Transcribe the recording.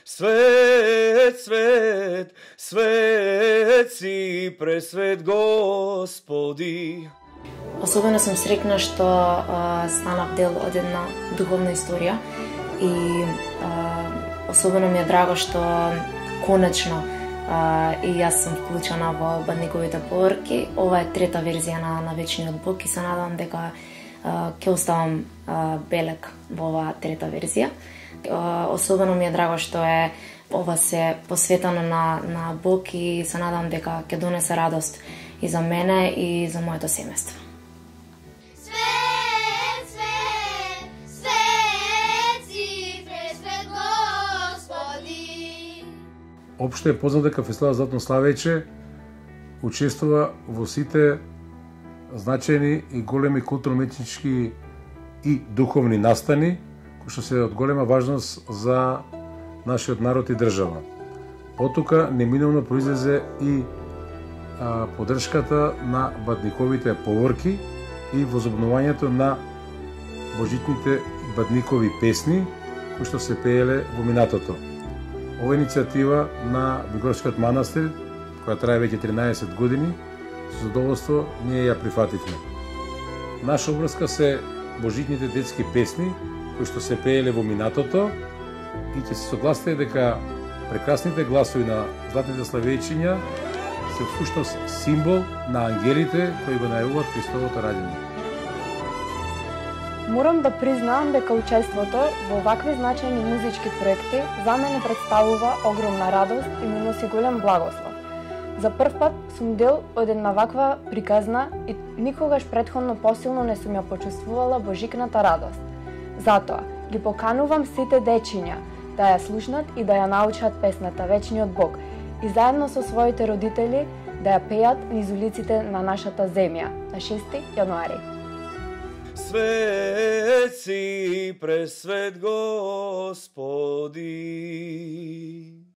Свет, свет, свет си, пресвет Господи. Особено сум среќна што станав дел од една духовна историја и особено ми е драго што конечно и јас сум вклучена во Бадниковите поворки. Ова е трета верзија на Вечниот Бог и се надам дека ќе оставам белек во оваа трета верзија. Особено ми е драго што ова се посветено на Бог и се надам дека ќе донесе радост и за мене и за моето семејство. Општо е познато дека фестивалот Златно славејче учествува во сите значајни и големи културно-уметнички и духовни настани, кои што се од голема важност за нашиот народ и држава. Оттука неминовно произлезе и поддршката на Бадниковите поворки и возобновувањето на божитните Бадникови песни, кои што се пееле во минатото. Ова иницијатива на Бигорскиот манастир, која трае веќе 13 години, со задоволство ние ја прифативме. Наша обврска се божитните детски песни, кои што се пееле во минатото и ќе се согласите дека прекрасните гласови на златните славејчиња се всушност символ на ангелите кои го најавуваат Христовото раѓање. Морам да признаам дека учеството во вакви значајни музички проекти за мене представува огромна радост и ми носи голем благослов. За прв пат сум дел од една ваква приказна и никогаш претходно посилно не сум ја почувствувала божикната радост. Затоа ги поканувам сите дечиња да ја слушнат и да ја научат песната Вечниот Бог и заедно со своите родители да ја пеат низ улиците на нашата земја на 6 јануари. Свет си, пресвет Господи.